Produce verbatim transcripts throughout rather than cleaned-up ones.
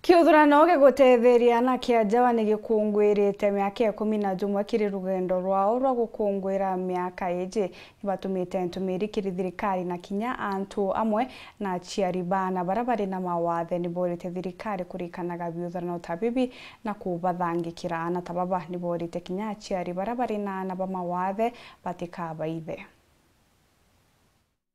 Kiuthurano gigutetheria anake a Njawa ni gikungwirite miaka ikumi na jumwe kiri rugendo rwao rwa gukungwira miaka iji. Nibatumite ntumiri kiri thirikari na kinya antu amwe na aciari ba aana baria bari na mawathe. Niborite thirikari kurikanaga biuthurano ta bibi na kubathangikira. Aana ta baba niborite kinya aciari baria bari na aana ba mawathe batikabaithe.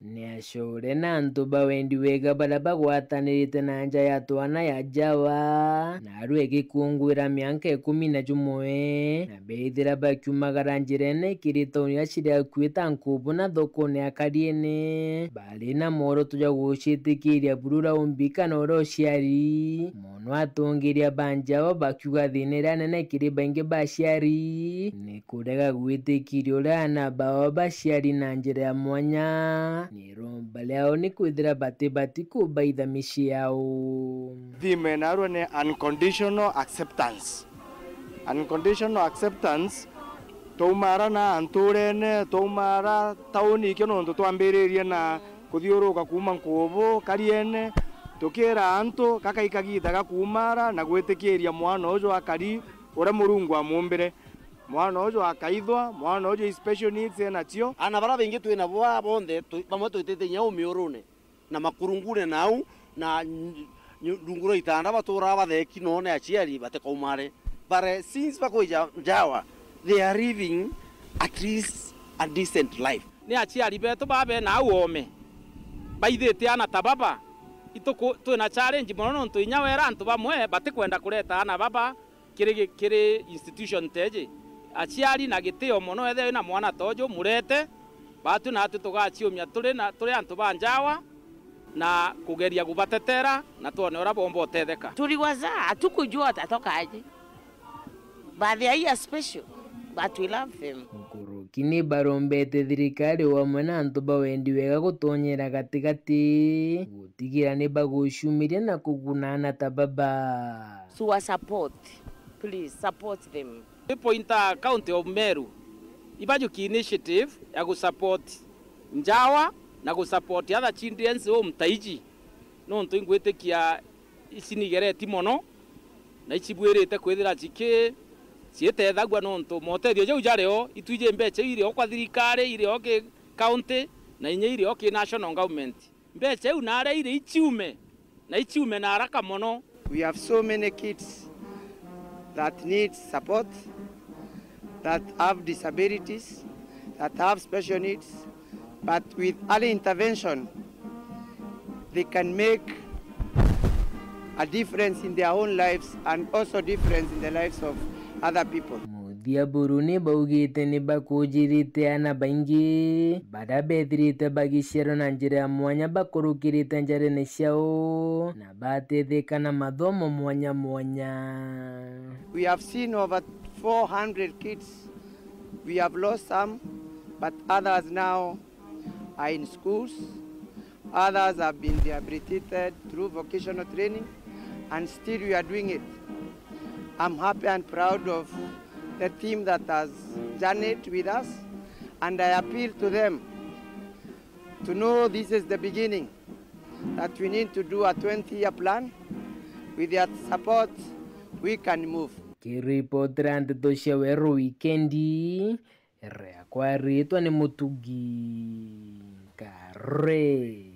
Ni acure na antu ba wendi wega baria bagwatanirite na nja ya twana ya Njawa, na arua igikungwira mianka ikumi na jumwe, na beethira bakiumagara njirene kiri tauni iria ciri akui ta Nkubu na thokone ya Kariene, bari na mworoto jwa gucitikiria buru raundi kana uria uciari. Mono atongeria ba Njawa bakiuga thina iria nene kiri baingi ba aciari ni kurega gwitikiria uria aana bao baciari na njira ya mwanya. Ni iromba riao ni kwithira batibati kubaitha micii yao. Theme narua ni unconditional acceptance. Unconditional acceptance, twaumara na nturene, twaumara tauni ikio nontu twambiririe na kuthiuruka kuuma Nkubu, Kariene, tukira antu gakai kagiita ga kuumara na gwitikiria mwana uju akari uria Murungu amuumbire. Mwana uju akaithwa, mwana uju special needs enacio. Aana baria baingi twi nabo aa bonthe, tu-, bamwe twitite inya umiurune na makurungune nau, na ny-, ny-, rungu rwa itanda baturaa batheki noo ni aciari batikaumare. But, eh, since bakwija Njawa, they are living at least a decent life. Ni aciari betu baa bena au oome baithite aana ta baba. Ituku-, twina challenge mono nontu inya wera antu bamwe batikwenda kureta aana baba kiri gi-, kiri institution teji. Aciari na gitio mono, ethira wina mwana ta uju, murete, baatwi naatwi tugaciumia turi na, turi antu ba Njawa na kugeria kubatetera na twone uria boomba utetheka. Tuliwazaa, hatukujua watatoka aje. But they are here special, but we love them. Nkuruki ni barombete thirikari o amwe na antu ba wendi wega gutonyera gatigati, gutigira ni bagucumiria na kuguna aana ta baba. Tuwa support, please support them. Twipointa County of Meru, ibajuki initiative ya gusupport Njawa na gusupport other children's home ta iji, nontu ingwitikia ici nigereti mono, na icibwirite kwithira ciki-, ciitethagua nontu motethio jau jario, itwiji mbeca irio kwa thirikari, irio ki county, na inya irio ki national government. Mbeca iu naria iri iciume, na iciume na haraka mono. We have so many kids that need support, that have disabilities, that have special needs, but with early intervention, they can make a difference in their own lives and also difference in the lives of other people. Muthia buru ni baugite ni bakujirite aana baingi baria bethirite bagiciarwa na njira ya mwanya bakurukirite njarene ciao na batetheka na mathomo mwanya mwanya. We have seen over four hundred kids. We have lost some, but others now are in schools. Others have been rehabilitated through vocational training, and still we are doing it. I'm happy and proud of the team that has journeyed with us, and I appeal to them to know this is the beginning, that we need to do a twenty-year plan. With their support, we can move. Kiripotera nteto cia Weru Wikendi, riakwa riitwa ni Mutugi Kare.